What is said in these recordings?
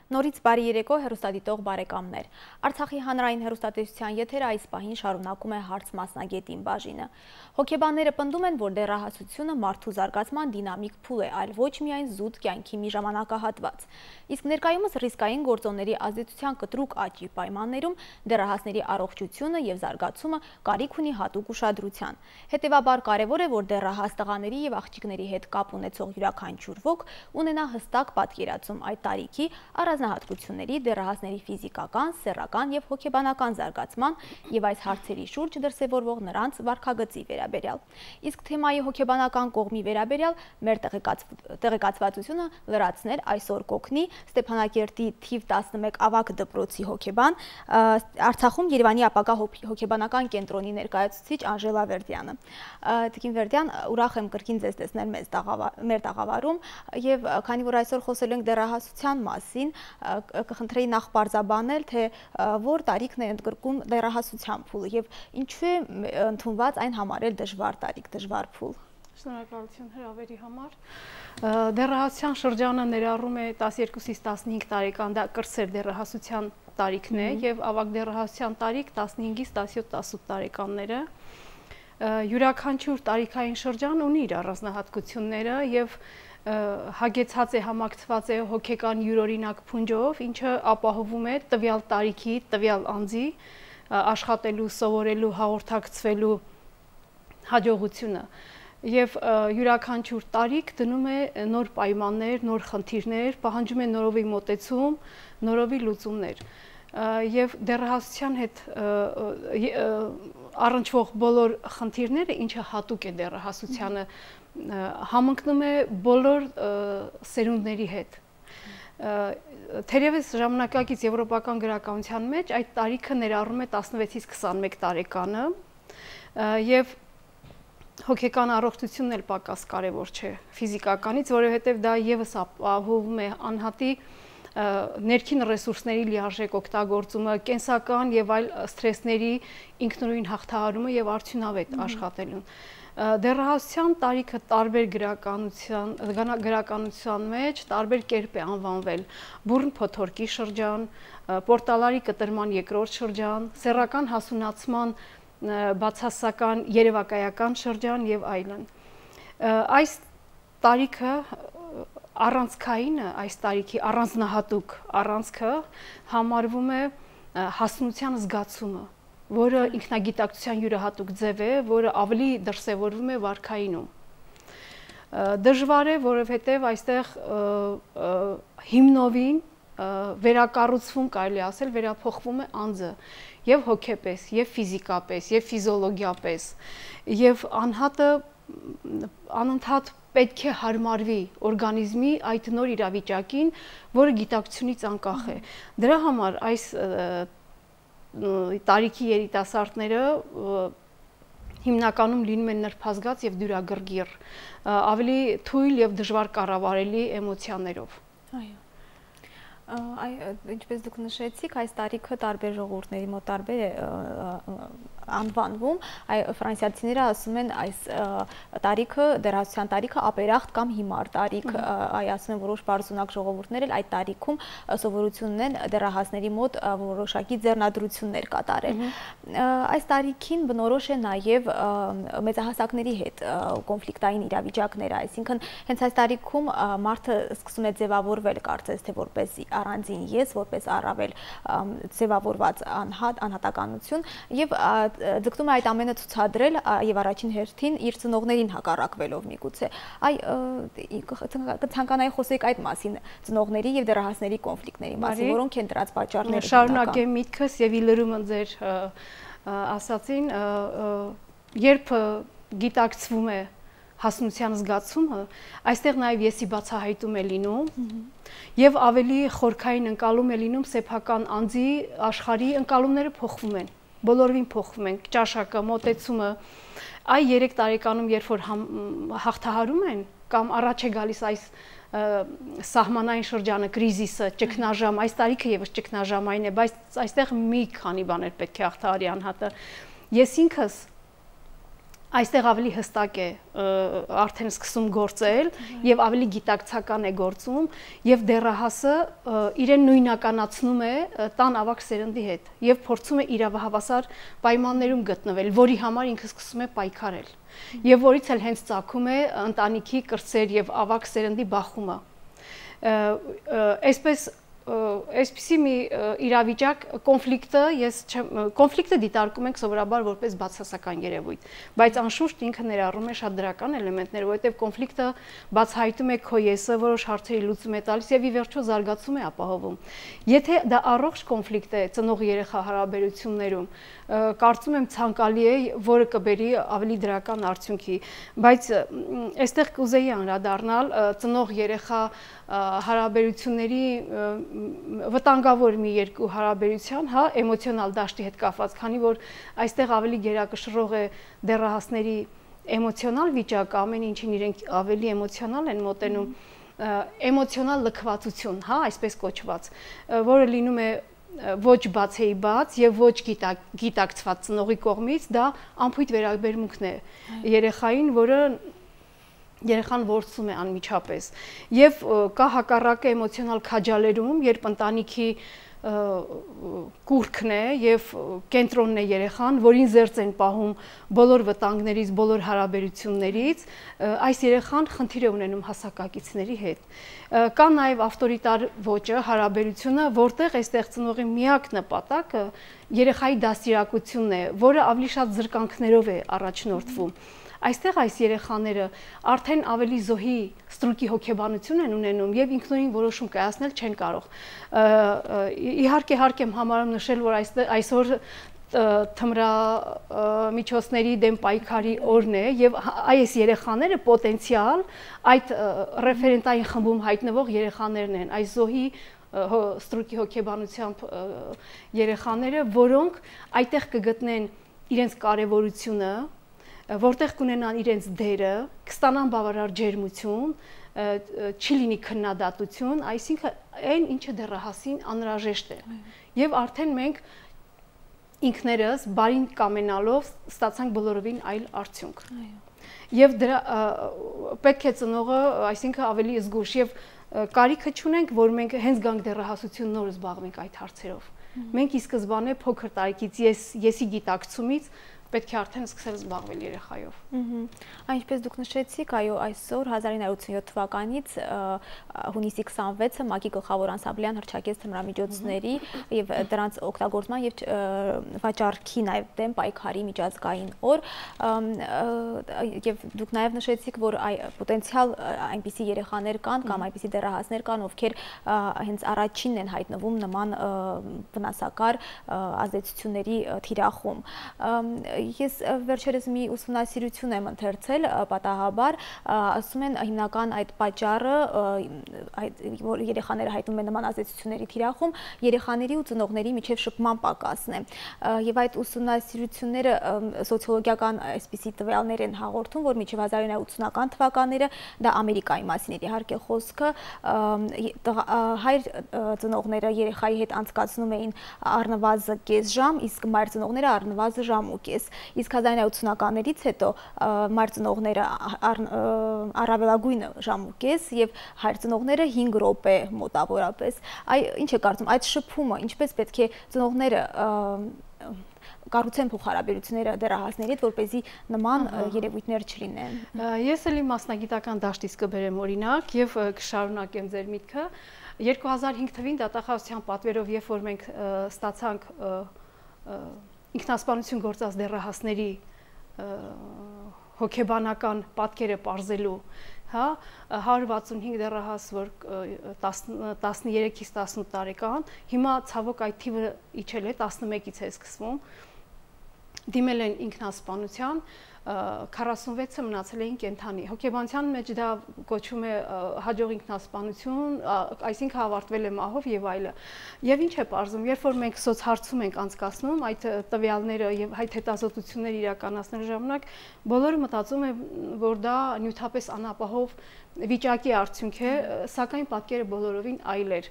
Նորից բարի երեկո հեռուստադիտող բարեկամներ։ Արցախի հանրային հեռուստատեսության եթերը այս պահին շարունակում է հարց մասնագետին բաժինը։ Հոգեբանները պնդում են, որ դեռահասությունը մարդու զարգացման դինամիկ փուլ է, այլ ոչ միայն զուտ կյանքի մի ժամանակահատված։ Իսկ ներկայումս ռիսկային գործոնների ազդեցության կտրուկ աճի պայմաններում դեռահասների առողջությունը եւ զարգացումը կարիք ունի հատուկ ուշադրության։ Հետևաբար կարևոր է, որ դեռահաս տղաների եւ աղջիկների հետ կապ ունեցող յուրաքանչյուր ոք ունենա հստակ պատկերացում այդ տարիքի առանձնահատկությունների, դեռահասների ֆիզիկական, սեռական եւ հոգեբանական զարգացման եւ այս հարցերի շուրջ դրսեւորվող նրանց վարքագծի վերաբերյալ։ Իսկ թեմայի հոգեբանական կողմի վերաբերյալ մեր տեղեկացվածությունը լրացնել այսօր կօգնի Ստեփանակերտի թիվ 11 ավագ դպրոցի հոգեբան, Արցախում Երևանի ապագա հոգեբանական կենտրոնի ներկայացուցիչ Անժելա Վերդյանը։ Տիկին Վերդյան, ուրախ եմ կրկին ձեզ տեսնել մեր տաղավարում եւ քանի որ այսօր խոսելու ենք դեռահասության մասին, կխնդրեի նախ պարզաբանել, թե որ տարիքն է ընդգրկում դեռահասության փուլը եւ ինչու է ընդունված այն համարել դժվար տարիք, դժվար փուլ։ Շնորհակալություն հրավերի համար։ Դեռահասության շրջանը ներառում է 12-ից 15 տարեկան, դա կրտսեր դեռահասության տարիքն է եւ ավագ դեռահասության տարիք 15-ից 17-18 տարեկանները։ Յուրաքանչյուր տարիքային շրջան ունի իր առանձնահատկությունները եւ հագեցած է, համակցված է հոգեկան յուրօրինակ փունջով, ինչը ապահովում է տվյալ տարիքի, տվյալ անձի աշխատելու, սովորելու, հաղորդակցվելու հաջողությունը եւ յուրաքանչյուր տարիք դնում է նոր պայմաններ, նոր խնդիրներ, պահանջում է նորովի մոտեցում, նորովի լուծումներ եւ դեռահասության հետ առնչվող բոլոր խնդիրները, ինչը հատուկ է դեռահասությանը, համընկնում է բոլոր սերունդների հետ։ Թերևս ժամանակակից եվրոպական գրականության մեջ այդ տարիքը ներառում է 16-ից 21 տարեկանը եւ հոգեկան առողջությունն էլ պակաս կարևոր չէ ֆիզիկականից, որովհետեւ դա եւս ապահովում է անհատի ներքին ռեսուրսների լիարժեք օգտագործումը, կենսական եւ այլ սթրեսների ինքնուրույն հաղթահարումը եւ արդյունավետ աշխատելուն։ Դեռահասության տարիքը տարբեր գրականության մեջ տարբեր կերպ է անվանվել՝ բուռն փոթորկի շրջան, պորտալարի կտրման երկրորդ շրջան, սեռական հասունացման բացասական երևակայական շրջան եւ այլն։ Այս տարիքը առանցքայինը, այս տարիքի առանձնահատուկ առանցքը համարվում է հասունության զգացումը, որը ինքնագիտակցության յուրահատուկ ձև է, որը ավելի դրսևորվում է վարքայինում։ Դժվար է, որովհետև այստեղ հիմնովին վերակառուցվում, կարելի ասել, վերափոխվում է անձը եւ հոգեպես, եւ ֆիզիկապես, եւ ֆիզիոլոգիապես, եւ անհատը անընդհատ պետք է հարմարվի օրգանիզմի այդ նոր իրավիճակին, որը գիտակցությունից անկախ է։ Դրա համար այս տարիքի երիտասարդները հիմնականում լինում են նրբազգաց եւ դյուրագրգիռ, ավելի թույլ եւ դժվար կառավարելի էմոցիաներով։ Այո։ Ինչպես դուք նշեցիք, այս տարիքը տարբեր ժողովուրդների մոտ տարբեր է անվանվում, ֆրանսիացիները ասում են այս տարիքը, դեռահասության տարիքը ապերախտ կամ հիմար տարիք, ասում են որոշ բարձունակ ժողովուրդներ էլ այդ տարիքում սովորություն ունեն դեռահասների մոտ որոշակի ձեռնադրություններ կատարել։ Այս տարիքին բնորոշ է նաև մեծահասակների հետ կոնֆլիկտային իրավիճակները, այսինքն հենց այս տարիքում մարդը սկսում է ձևավորվել, կարծես թե որպես առանձին ես, որպես առավել ձևավորված անհատականություն եւ ձգտում է այդ ամենը ցուցադրել եւ առաջին հերթին իր ծնողներին հակառակվելով միգուցե։ Կցանկանայի խոսեք այդ մասին, ծնողների եւ դեռահասների կոնֆլիկտների մասին, որոնք են դրանց պատճառները։ Շարունակեմ միտքս եւ ի լրումը ձեր ասացին, երբ գիտակցվում է հասունության զգացումը, այստեղ նաև եսի բացահայտում է լինում եւ ավելի խորքային ընկալում է լինում սեփական անձի աշխարհի ընկալումները փոխվում են, բոլորովին փոխվում են, ճաշակը, մոտեցումը, այ 3 տարեկանում երբ որ հաղթահարում են կամ առաջ է գալիս այս սահմանային շրջանը, կրիզիսը, ճգնաժամ, այս տարիքը եւս ճգնաժամային է, բայց այստեղ մի քանի բաներ պետք է հաղթահարի անհատը։ Ես ինքս այստեղ ավելի հստակ է արդեն սկսում գործել եւ ավելի գիտակցական է գործում եւ դեռահասը իրեն նույնականացնում է տան ավագ սերնդի հետ եւ փորձում է իրավահավասար պայմաններում գտնվել, որի համար ինքը սկսում է պայքարել եւ որից էլ հենց ծագում է ընտանիքի կրտսեր եւ ավագ սերնդի բախումը։ Այսպիսի մի իրավիճակ կոնֆլիկտը դիտարկում ենք սովորաբար որպես բացասական երևույթ, բայց անշուշտ ինքը ներառում է շատ դրական էլեմենտներ, որովհետև կոնֆլիկտը բացահայտում է քո եսը, որոշ հարցերի լուծում է տալիս եւ ի վերջո զարգացում է ապահովում։ Եթե դա առողջ կոնֆլիկտ է ծնող երեխա հարաբերություններում, կարծում եմ ցանկալի է, որը կբերի ավելի դրական արդյունքի, բայց այստեղ կուզեի անդրադառնալ ծնող երեխա հարաբերությունների վտանգավոր մի երկու հարաբերության, հա, էմոցիոնալ դաշտի հետ կապված, քանի որ այստեղ ավելի գերակշռող է դեռահասների էմոցիոնալ վիճակը, ամեն ինչին իրենք ավելի էմոցիոնալ են մոտենում, էմոցիոնալ լքվածություն, հա, այսպես կոչված, որը լինում է ոչ բացեի բաց եւ ոչ գիտակցված ծնողի կողմից, դա անփույթ վերաբերմունքն է երեխային, որը երեխան ворցում է անմիջապես եւ կա հակառակը էմոցիոնալ քաջալերում, երբ ընտանիքի կուրքն է եւ կենտրոնն է երեխան, որին զերծ են պահում բոլոր վտանգներից, բոլոր հարաբերություններից, այս երեխան խնդիր է ունենում հասակակիցների հետ։ Կա նաեւ ավտորիտար ոճը, հարաբերությունը, որտեղ այստեղ ծնողի միակ նպատակը երեխայի դաստիարակությունն է, որը ավելի շատ զրկանքներով է առաջնորդվում։ Այստեղ այս երեխաները արդեն ավելի զոհի ստրուկի հոգեբանություն են ունենում եւ ինքնուրույն որոշում կայացնել չեն կարող։ Իհարկե հարկ եմ համարում նշել, որ այսօր թմրամիջոցների դեմ պայքարի օրն է եւ այս երեխաները պոտենցիալ այդ ռեֆերենտային խմբում հայտնվող երեխաներն են, այս զոհի ստրուկի հոգեբանությամբ երեխաները, որոնք այդտեղ կգտնեն իրենց կարեւորությունը, որտեղ կունենան իրենց դերը, կստանան բավարար ջերմություն, չի լինի քննադատություն, այսինքն այն ինչը դեռահասին անհրաժեշտ է։ Եվ արդեն մենք ինքներս բարին կամենալով ստացանք բոլորովին այլ արդյունք։ Եվ դրա պետք է ծնողը, այսինքն ավելի զգուշ եւ կարիքը չունենք, որ մենք հենց գանք դեռահասություն նոր զբաղվենք այդ հարցերով։ Մենք ի սկզբանե փոքր տարիքից եսի գիտակցումից պետք է արդեն սկսել զբաղվել երեխայով։ Այնպես դուք նշեցիք, այո, այսօր 1987 թվականից հունիսի 26-ը ՄԱԿ-ի գլխավոր անսամբլեան հռչակեց թմրամիջոցների եւ դրանց օգտագործման եւ վաճառքի նաեւ դեմ պայքարի միջազգային օր, եւ դուք նաեւ նշեցիք, որ պոտենցիալ այնպիսի երեխաներ կան կամ այնպիսի դեռահասներ կան, ովքեր հենց առաջինն են հայտնվում նման վնասակար ազդեցությունների թիրախում։ Ես վերջերս մի ուսումնասիրություն եմ ընթերցել, պատահաբար, ասում են հիմնական այդ պատճառը, որ երեխաները հայտնում են նման ազդեցությունների թիրախում, երեխաների ու ծնողների միջև շփման պակասն է։ Եվ այդ ուսումնասիրությունները սոցիոլոգիական այսպիսի տվյալներ են հաղորդում, որ մինչև 1980-ական թվականները, դա Ամերիկայի մասին էր իհարկե խոսքը, հայր ծնողները երեխայի հետ անցկացնում էին առնվազն կես ժամ, իսկ մայր ծնողները առնվազն ժամ ու կես։ Իսկ 1980-ականներից հետո մայր ծնողները առավելագույն ժամ ու կես եւ հայր ծնողները 5 րոպե մոտավորապես։ Ինչ է կարծում, այդ շփումը ինչպես պետք է ծնողները կառուցեն փոխհարաբերությունները դեռահասների հետ, որպեսզի նման երևույթներ չլինեն։ Ես էլի մասնագիտական դաշտից կբերեմ օրինակ եւ կշարունակեմ ձեր միտքը։ 2005 թվին դատախազության պատվերով, երբ որ մենք ստացանք ինքնասպանություն գործած դեռահասների հոգեբանական պատկերը պարզելու, հա, 165 դեռահաս, որ 13-ից 18 տարեկան, հիմա ցավոք այդ թիվը իջել է, 11-ից է սկսվում, դիմել են ինքնասպանության, 46-ը մնացել էին կենդանի։ Հոգեբանության մեջ դա կոչվում է հաջող ինքնասպանություն, այսինքն ավարտվել է մահով եւ այլը։ Եվ ինչ է պարզում, երբ որ մենք սոցհարցում ենք անցկացնում այդ տվյալները եւ այդ հետազոտությունները իրականացնելու ժամանակ, բոլորը մտածում են, որ դա նյութապես անապահով վիճակի արդյունք է, սակայն պատկերը բոլորովին այլ էր։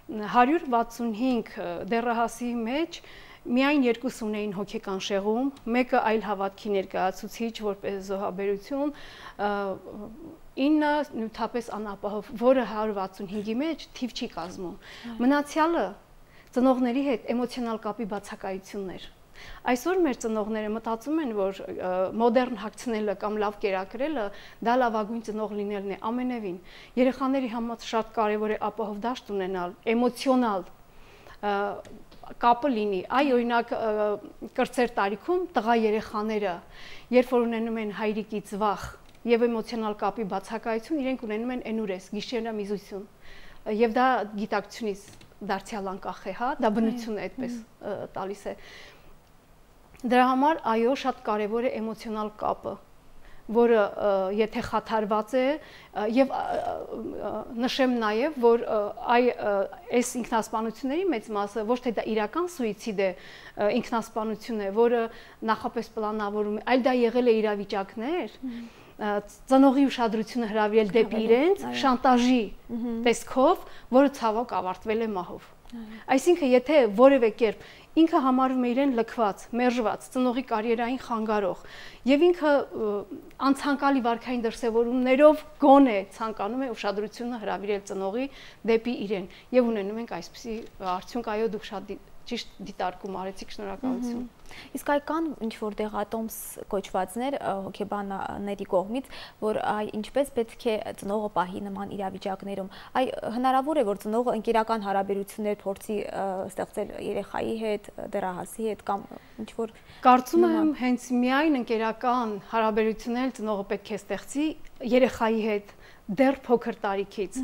165 դեռահասի մեջ Միայն երկուս ունեին հոգեկան շեղում, մեկը այլ հավատքի ներկայացուցիչ, որպես զոհաբերություն, 9 նյութապես անապահով, որը 165-ի մեջ թիվ չի կազմում։ Մնացյալը ծնողների հետ էմոցիոնալ կապի բացակայություններ։ Այսօր մեր ծնողները մտածում են, որ մոդեռն հագցնելը կամ լավ կերակրելը դա լավագույն ծնող լինելն է, ամենևին։ Երեխաների համար շատ կարևոր է ապահով դաշտ ունենալ, էմոցիոնալ կապը լինի։ Այ օրինակ կրտսեր տարիքում տղա երեխաները, երբ որ ունենում են հայրիկից վախ եւ էմոցիոնալ կապի բացակայություն, իրենք ունենում են էնուրես, գիշերամիզություն։ Եվ դա գիտակցությունից դարձյալ անկախ է, հա, դա բնությունը այդպես տալիս է։ Դրա համար այո, շատ կարևոր է էմոցիոնալ կապը, որը եթե խաթարված է, եւ նշեմ նաեւ, որ այս ինքնասպանությունների մեծ մասը ոչ թե դա իրական սուիցիդ է, ինքնասպանություն է, որը նախապես պլանավորում է, այլ դա եղել է իրավիճակներ, ծնողի ուշադրությունը հրավիրել դեպի իրենց, շանտաժի տեսքով, որը ցավոք ավարտվել է մահով։ Այսինքն, եթե որևէ կերպ ինքը համարում է իրեն լքված, մերժված, ծնողի կարիերային խանգարող եւ ինքը անցանկալի վարքային դրսեւորումներով գոնե ցանկանում է ուշադրությունը հրավիրել ծնողի դեպի իրեն եւ ունենում ենք այսպիսի արդյունք, այո, դուք շատ ճիշտ դիտարկում արեցիք, շնորհակալություն։ Իսկ այ կան ինչ-որ դեղատոմս կոչվածներ հոգեբանների կողմից, որ ինչպես պետք է ծնողը պահի նման իրավիճակներում։ Այ հնարավոր է, որ ծնողը ընկերական հարաբերություններ փորձի ստեղծել երեխայի հետ, դեռահասի հետ կամ ինչ-որ։ Կարծում եմ, հենց միայն ընկերական հարաբերություններ ծնողը պետք է ստեղծի երեխայի հետ դեռ փոքր տարիքից։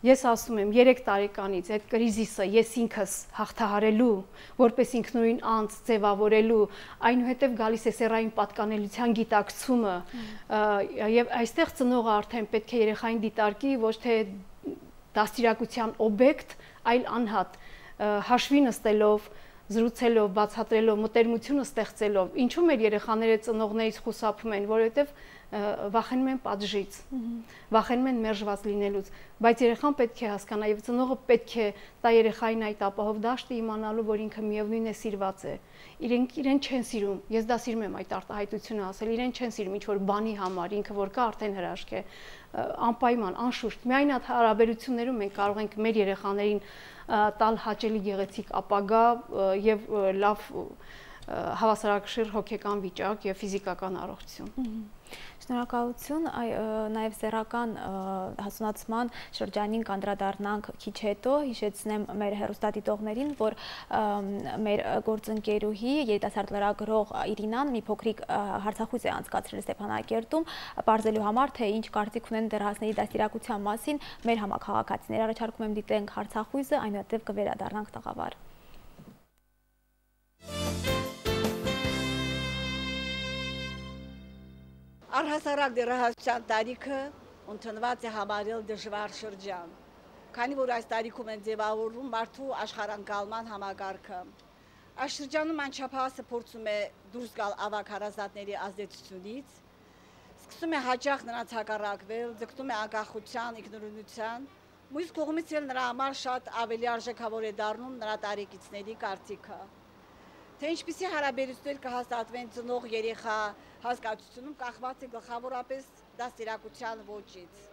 Ես ասում եմ 3 տարեկանից այդ կրիզիսը ես ինքս հաղթահարելու, որպես ինքնուրույն անձ ձևավորելու, այնուհետև գալիս է սեռային պատկանելիության գիտակցումը, եւ այստեղ ծնողը արդեն պետք է երեխային դիտարկի ոչ թե դաստիարակության օբյեկտ, այլ անհատ, հաշվի նստելով, զրուցելով, բացատրելով, մտերմությունը ստեղծելով։ Ինչու մեր երեխաները ծնողներից խուսափում են, որովհետև վախենում են պատժից, վախենում են մերժված լինելուց, բայց երեխան պետք է հասկանա եւ ծնողը պետք է տա երեխային այդ ապահով դաշտը իմանալու, որ ինքը միևնույն է սիրված է։ Իրեն չեն սիրում, ես դա սիրում եմ այդ արտահայտությունը ասել, իրեն չեն սիրում ինչ որ բանի համար, ինքը որ կա արդեն հրաշք է, անպայման, անշուշտ։ Միայն այդ հարաբերություններում մենք կարող ենք մեր երեխաներին տալ հաճելի գեղեցիկ ապագա եւ լավ հավասարակշիռ հոգեկան վիճակ եւ ֆիզիկական առողջություն։ Շնորհակալություն, նաև սեռական հասունացման շրջանին կանդրադառնանք քիչ հետո, հիշեցնեմ մեր հեռուստադիտողներին, որ մեր գործընկերուհի երիտասարդ լրագրող Իրինան մի փոքրիկ հարցախույս է անցկացրել Ստեփանակերտում, պարզելու համար, թե ինչ կարծիք ունեն դեռահասների դաստիարակության մասին մեր համաքաղաքացիներ, առաջարկում եմ դիտենք հարցախույսը, այնուհետև կվերադառնանք տաղավար։ Առհասարակ դեռահասության տարիքը ընդունված է համարել դժվար շրջան, քանի որ այս տարիքում են ձևավորվում մարդու աշխարհընկալման համակարգը։ Այս շրջանում անչափահասը փորձում է դուրս գալ ավագ հարազատների ազդեցությունից, սկսում է հաճախ նրանց հակառակվել, ձգտում է անկախության, ինքնուրույնության, մյուս կողմից էլ նրա համար շատ ավելի արժեքավոր է դառնում նրա տարեկիցների կարծիքը։ Թե ինչպիսի հարաբերություններ կհաստատվեն ծնող երեխա հասկացությունում կախված է գլխավորապես դաստիարակության ոճից։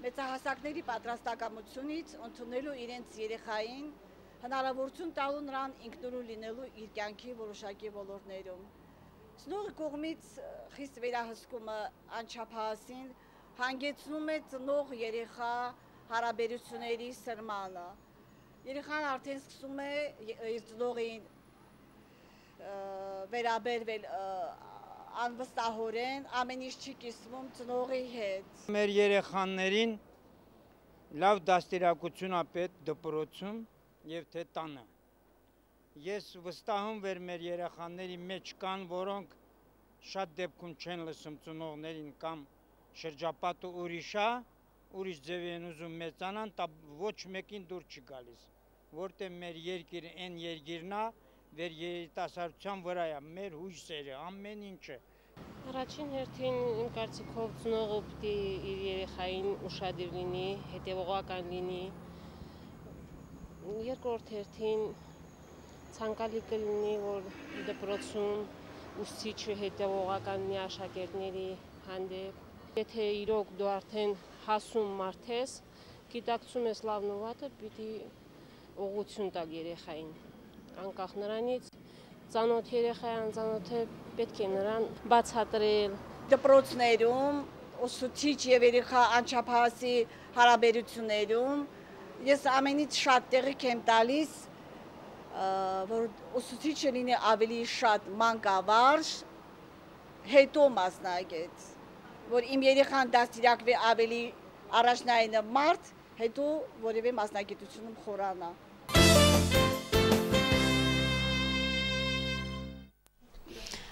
Մեծահասակների պատրաստակամությունից ընդունելու իրենց երեխային հնարավորություն տալու նրան ինքնուրույն լինելու իր կյանքի որոշակի ոլորտներում։ Ծնողի կողմից խիստ վերահսկումը անչափահասին հանգեցնում է ծնող երեխա հարաբերությունների սրմանը։ Երեխան արդեն սկսում է իր ծնողին վերաբերվել անվստահորեն, ամեն ինչ չի կիսվում ծնողի հետ։ Մեր երեխաներին լավ դաստիարակություն է պետք դպրոցում եւ թե տանը։ Ես վստահում եմ մեր երեխաների մեջ կան, որոնք շատ դեպքում չեն լսում ծնողներին կամ շրջապատը ուրիշ է, ուրիշ ձև են ուզում մեծանան, ոչ մեկին դուր չի գալիս, որտեղ մեր երկիրը այն երկիրն է, վեր երիտասարդության վրա է, մեր հույսերը, ամեն ինչը։ Առաջին հերթին իմ կարծիքով ծնողը պիտի իր երեխային ուշադիր լինի, հետևողական լինի։ Երկրորդ հերթին ցանկալի կլինի, որ դպրոցում ուսուցիչը հետևողական մի աշակերտների հանդեպ, եթե իրոք դու արդեն հասուն մարդ ես, գիտակցում ես լավն ու վատը, պիտի ուղղություն տալ երեխային, անկախ նրանից ծանոթ երեխա անծանոթ է, պետք է նրան բացատրել։ Դպրոցներում ուսուցիչ եւ երեխա անչափահասի հարաբերություններում ես ամենից շատ տեղիք եմ տալիս, որ ուսուցիչը լինի ավելի շատ մանկավարժ, հետո մասնագետ, որ իմ երեխան դաստիարակվի ավելի առաջնային մարդ, հետո որևէ մասնագիտությունում խորանա։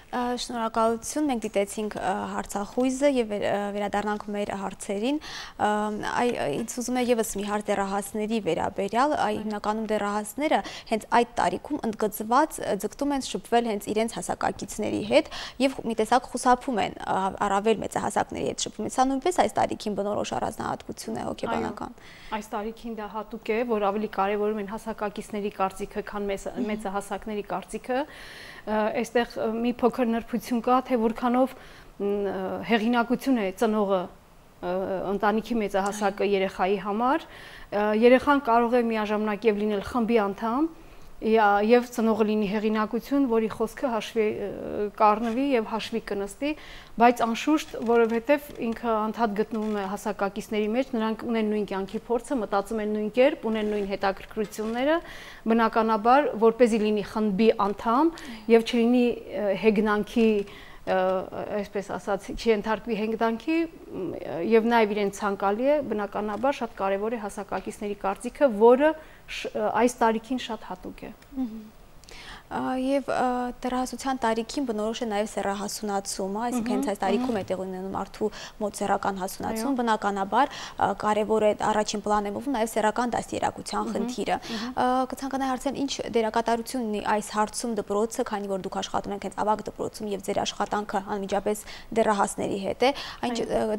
Շնորհակալություն, մենք դիտեցինք հարցախույզը եւ վերադառնանք մեր հարցերին։ Ինձ ուզում է եւս մի հարց դեռահասների վերաբերյալ, հիմնականում դեռահասները հենց այդ տարիքում ընդգծված ձգտում են շփվել հենց իրենց հասակակիցների հետ եւ մի տեսակ խուսափում են առավել մեծահասակների հետ շփվում։ Սա նույնպես այս տարիքին բնորոշ առանձնահատկություն է հոգեբանական։ Այս տարիքին դա հատուկ է, որ ավելի կարևորում են հասակակիցների կարծիքը, քան մեծահասակների կարծիքը։ Այստեղ մի փոքր նրբություն կա, թե որքանով հեղինակություն է ծնողը ընտանիքի մեծահասակ երեխայի համար, երեխան կարող է միաժամանակ եւ լինել խմբի անդամ եւ ծնողը լինի հեղինակություն, որի խոսքը հաշվի կառնվի եւ հաշվի կնստի, բայց անշուշտ, որովհետեւ ինքը անդադ գտնվում է հասակակիցների մեջ, նրանք ունեն նույն կյանքի փորձը, մտածում են նույն կերպ, ունեն նույն հետաքրքրությունները, բնականաբար, որպեսզի լինի խմբի անդամ եւ չլինի հեգնանքի, այսպես ասած, չընթարկվի հեգնանքի եւ նաեւ իրեն ցանկալի է, բնականաբար շատ կարեւոր է հասակակիցների կարծիքը, որը այս տարիքին շատ հատուկ է։ Եվ դեռահասության տարիքին բնորոշ է նաև սեռահասունացումը, այսինքն հենց այս տարիքում է տեղի ունենում մարդու մոտ սեռական հասունացում, բնականաբար կարևոր է առաջին պլան է մովում նաև սեռական դաստիարակության խնդիրը։ Կցանկանայի հարցնել, ինչ դերակատարություն ունի այս հարցում դպրոցը, քանի որ դուք աշխատում եք հենց ավագ դպրոցում եւ ձեր աշխատանքը անմիջապես դեռահասների հետ է, այն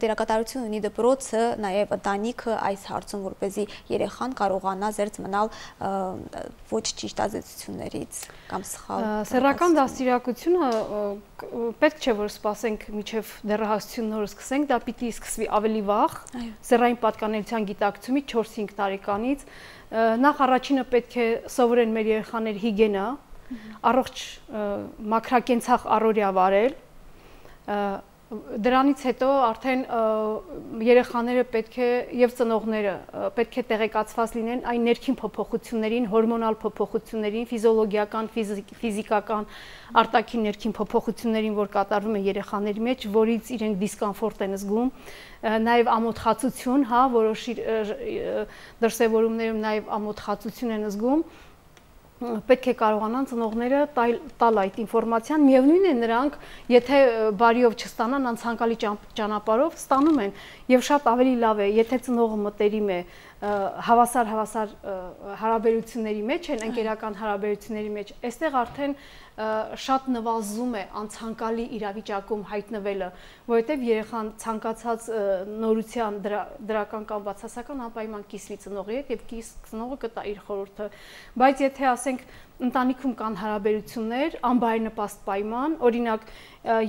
դերակատարություն ունի դպրոցը, նաև ընտանիքը այս հարցում, որպեսզի երեխան կարողանա զերծ մնալ ոչ ճիշտ ազդեցություններից կամ սխալ։ Սեռական դաստիարակությունը պետք չէ որ սպասենք մինչև դեռահասություն նոր սկսենք, դա պիտի սկսվի ավելի վաղ, սեռային պատկանելիության գիտակցումից 4-5 տարեկանից։ Նախ առաջինը պետք է սովորեն մեր երեխաներ հիգիենա, առողջ մաքրակենցաղ առօրյա վարել։ Դրանից հետո արդեն երեխաները պետք է եւ ծնողները պետք է տեղեկացված լինեն այն ներքին փոփոխություններին, հորմոնալ փոփոխություններին, ֆիզիոլոգիական, ֆիզիկական արտաքին ներքին փոփոխություններին, որ կատարվում են երեխաների մեջ, որից իրենք դիսկոմֆորտ են զգում, նաեւ ամոթխածություն, հա, որոշ դրսևորումներում նաեւ ամոթխածություն են զգում։ Պետք է կարողանան ծնողները տալ այդ ինֆորմացիան, միևնույն է նրանք, եթե բարիով չստանան, անցանկալի ճանապարհով ստանում են եւ շատ ավելի լավ է, եթե ծնողը մտերիմ է, հավասար հարաբերությունների մեջ են, ընկերական հարաբերությունների մեջ, այստեղ արդեն շատ նվազում է անցանկալի իրավիճակում հայտնվելը, որովհետև երեխան ցանկացած նորության դրական կամ բացասական անպայման կիսվի ծնողի հետ եւ ծնողը կտա իր խորհուրդը, բայց եթե ասենք ընտանիքում կան հարաբերություններ, անբարենպաստ պայման, օրինակ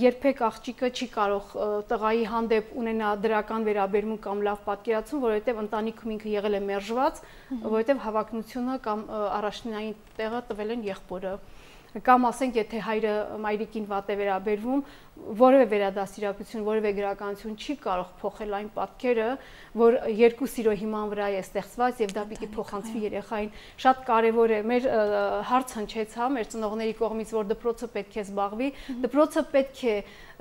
երբեք աղջիկը չի կարող տղայի հանդեպ ունենա դրական վերաբերմունք կամ լավ պատկերացում, որովհետև ընտանիքում ինքը եղել է մերժված, որովհետև հավակնությունը կամ առաջնային տեղը տվել են եղբորը։ Կամ ասենք, եթե հայրը մայրիկին վատ է վերաբերվում, որևէ վերադաստիարակություն, որևէ գրականություն չի կարող փոխել այն պատկերը, որ երկու սիրո հիման վրա է ստեղծված եւ դա պիտի փոխանցվի երեխային։ Շատ կարեւոր է, մեր հարց հնչեց, հա, մեր ծնողների կողմից, որ դպրոցը պետք է զբաղվի, դպրոցը պետք է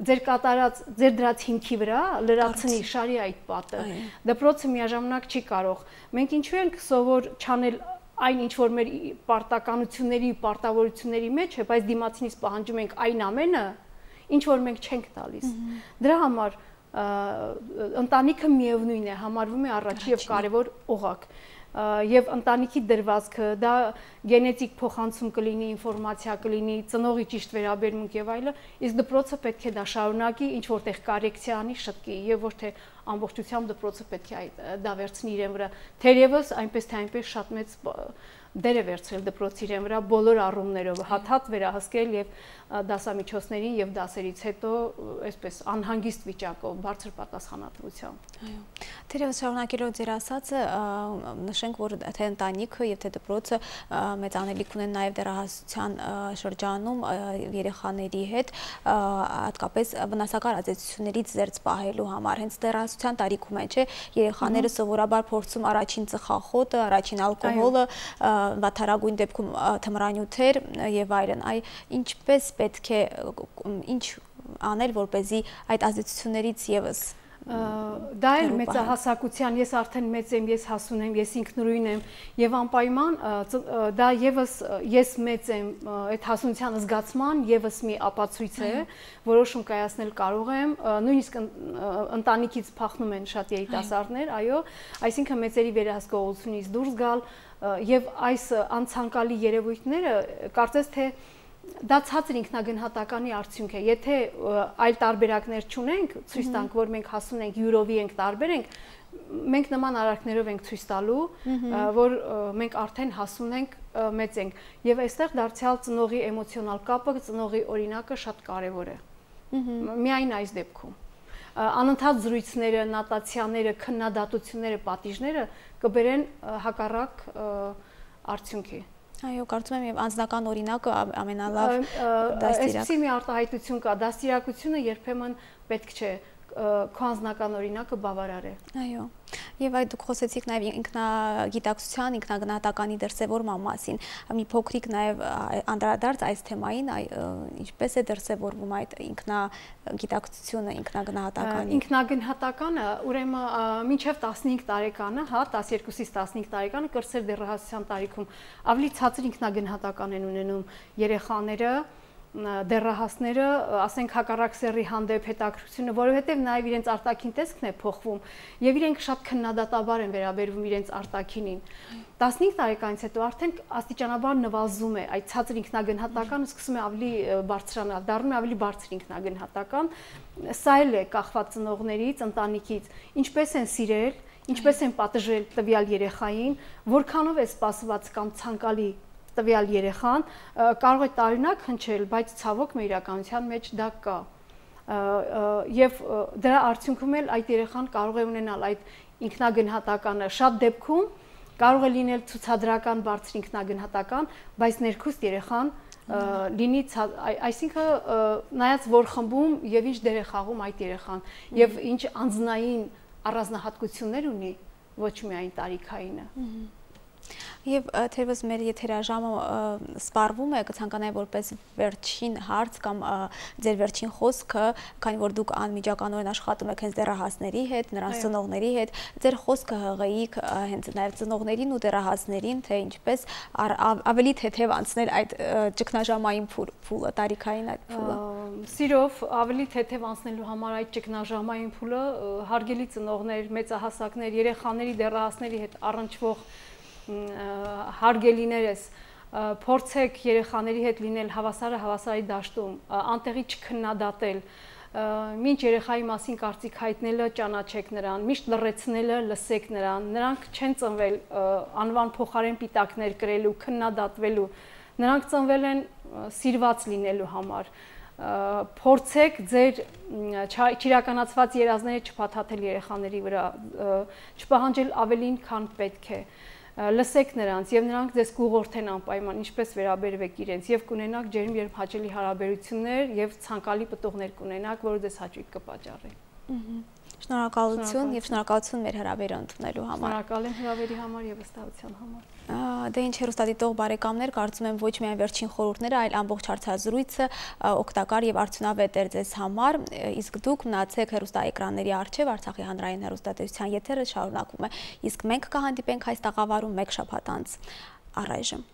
ձեր կատարած, ձեր դրած հիմքի վրա լրացնի, շարի այդ պատը։ Դպրոցը միաժամանակ չի կարող։ Մենք ինչու ենք սովոր չանել այն ինչ որ մեր պարտականությունների, պարտավորությունների մեջ է, բայց դիմացինից պահանջում ենք այն ամենը, ինչ որ մենք չենք տալիս։ Դրա համար ընտանիքը միևնույն է, համարվում է առաջին եւ կարեւոր օղակ։ Եվ ընտանիքի դրվածքը, դա գենետիկ փոխանցում կլինի, ինֆորմացիա կլինի, ծնողի ճիշտ վերաբերմունք եւ այլը, իսկ դպրոցը պետք է դա շարունակի, ինչ որտեղ կորեկցիա անի, շտկի եւ ոչ թե ամբողջությամբ դպրոցը պետք է դա վերցնի իրեն վրա։ Թերևս այնպես թե այնպես շատ մեծ դեր է վերցրել դպրոցի իրեն վրա բոլոր առումներով, հատ-հատ վերահսկել եւ դասամիջոցներին եւ դասերից հետո այսպես անհանգիստ վիճակով, բարձր պատասխանատվությամբ։ Այո։ Թերևս շարունակելով ձեր ասածը, նշենք, որ թե ընտանիքը եւ թե դպրոցը մեծ անելիք ունեն նաեւ դեռահասության շրջանում երեխաների հետ, հատկապես վնասակար ազդեցություններից զերծ պահելու համար։ Հենց դեռահասության տարիքում են, չէ՞, երեխաները սովորաբար փորձում առաջին ծխախոտը, առաջին ալկոհոլը, վատթարագույն դեպքում թմրանյութեր եւ այլն։ Ինչպես պետք է ինչ անել, որպեսզի այդ ազդեցություններից եւս դա էլ մեծահասակության, ես արդեն մեծ եմ, ես հասուն եմ, ես ինքնուրույն եմ եւ անպայման դա եւս ես մեծ եմ այդ հասունության զգացման եւս մի ապացույց է, որոշում կայացնել կարող եմ, նույնիսկ ընտանիքից փախնում են շատ երիտասարդներ, այո, այսինքն մեծերի վերահսկողությունից դուրս գալ եւ այս անցանկալի երևույթները կարծես թե դա ցածր ինքնագնահատականի արդյունք է։ Եթե այլ տարբերակներ չունենք, ցույց տանք, որ մենք հասուն ենք, յուրովի ենք, տարբեր ենք, մենք նման արարքներով ենք ցույց տալու, որ մենք արդեն հասուն ենք, մեծ ենք։ Եվ այստեղ դարձյալ ծնողի էմոցիոնալ կապը, ծնողի օրինակը շատ կարևոր է։ Միայն այս դեպքում անընդհատ զրույցները, նատացիաները, քննադատությունները, պատիժները կբերեն հակառակ արդյունքի։ Այո, կարծում եմ եւ անձնական օրինակը ամենալավ դաստիարակ։ Այսպիսի մի արտահայտություն կա, դաստիարակությունը երբեմն պետք չէ, քո անձնական օրինակը բավարար է։ Այո։ Եվ այդ դուք խոսեցիք նաև ինքնագիտակցության, ինքնագնահատականի դրսևորման մասին։ Մի փոքրիկ նաև անդրադարձ այս թեմային, ինչպես է դրսևորվում այդ ինքնագիտակցությունը, ինքնագնահատականը։ Ինքնագնահատականը, ուրեմն մինչև 15 տարեկանը, հա, 12-ից 15 տարեկանը կրտսեր դեռահասության տարիքում ավելի ցածր ինքնագնահատական են ունենում երեխաները, դեռահասները, ասենք հակառակ սեռի հանդեպ հետաքրքրությունը, որովհետև նաև իրենց արտաքին տեսքն է փոխվում եւ իրենք շատ քննադատաբար են վերաբերվում իրենց արտաքինին։ 15 տարեկանից հետո արդեն աստիճանաբար նվազում է այդ ցածր ինքնագնահատականը, սկսում է ավելի բարձրանալ, դառնում է ավելի բարձր ինքնագնահատական։ Սա էլ է կախված ծնողներից, ընտանիքից, ինչպես են սիրել, ինչպես են պատժել տվյալ երեխային, որքանով է սպասված կամ ցանկալի տվյալ երեխան, կարող է տարօրինակ հնչել, բայց ցավոք մեր իրականության մեջ դա կա։ Եվ դրա արդյունքում էլ այդ երեխան կարող է ունենալ այդ ինքնագնահատականը, շատ դեպքում կարող է լինել ցուցադրական բարձր ինքնագնահատական, բայց ներքուստ երեխան լինի, այսինքն նայած որ խմբում եւ ինչ դեր է խաղում այդ երեխան եւ ինչ անձնային առանձնահատկություններ ունի, ոչ միայն տարիքայինը։ Եվ թերևս մեր եթերաժամը սպառվում է, կցանկանայի որպես վերջին հարց կամ ձեր վերջին խոսքը, քանի որ դուք անմիջականորեն աշխատում եք հենց դեռահասների հետ, նրանց ծնողների հետ, ձեր խոսքը հղեիք հենց նաև ծնողներին ու դեռահասներին, թե ինչպես ավելի թեթև անցնել այդ ճգնաժամային փուլը, տարիքային այդ փուլը։ Սիրով ավելի թեթև անցնելու համար այդ ճգնաժամային փուլը հարգելի ծնողներ, մեծահասակներ, երեխաների, դեռահասների հետ առնչվող հարգելիներս, փորձեք երեխաների հետ լինել հավասարի դաշտում, անտեղի չքննադատել, մինչ երեխայի մասին կարծիք հայտնելը ճանաչեք նրան, միշտ լռեցնելը լսեք նրան, նրանք չեն ծնվել անվան փոխարեն պիտակներ կրելու, քննադատվելու, նրանք ծնվել են սիրված լինելու համար, փորձեք ձեր չիրականացված երազները չփաթաթել երեխաների վրա, չպահանջել ավելին, քան պետք է, լսեք նրանց եւ նրանք ձեզ կուղղորդեն անպայման ինչպես վերաբերվեք իրենց եւ կունենաք ջերմ երբ հաճելի հարաբերություններ եւ ցանկալի պտուղներ կունենաք, որը ձեզ հաճույք կպատճառի։ Շնորհակալություն եւ շնորհակալություն մեր հրավերը ընդունելու համար։ Շնորհակալ եմ հրավերի համար եւ վստահության համար։ Դե ինչ հեռուստադիտող բարեկամներ, կարծում եմ ոչ միայն վերջին խորհուրդները, այլ ամբողջ հարցազրույցը օգտակար եւ արդյունավետ էր ձեզ համար, իսկ դուք մնացեք հեռուստաէկրանների առջեւ, Արցախի հանրային հեռուստատեսության եթերը շարունակվում է, իսկ մենք կհանդիպենք այս տաղավարում մեկ շաբաթ անց։ Առայժմ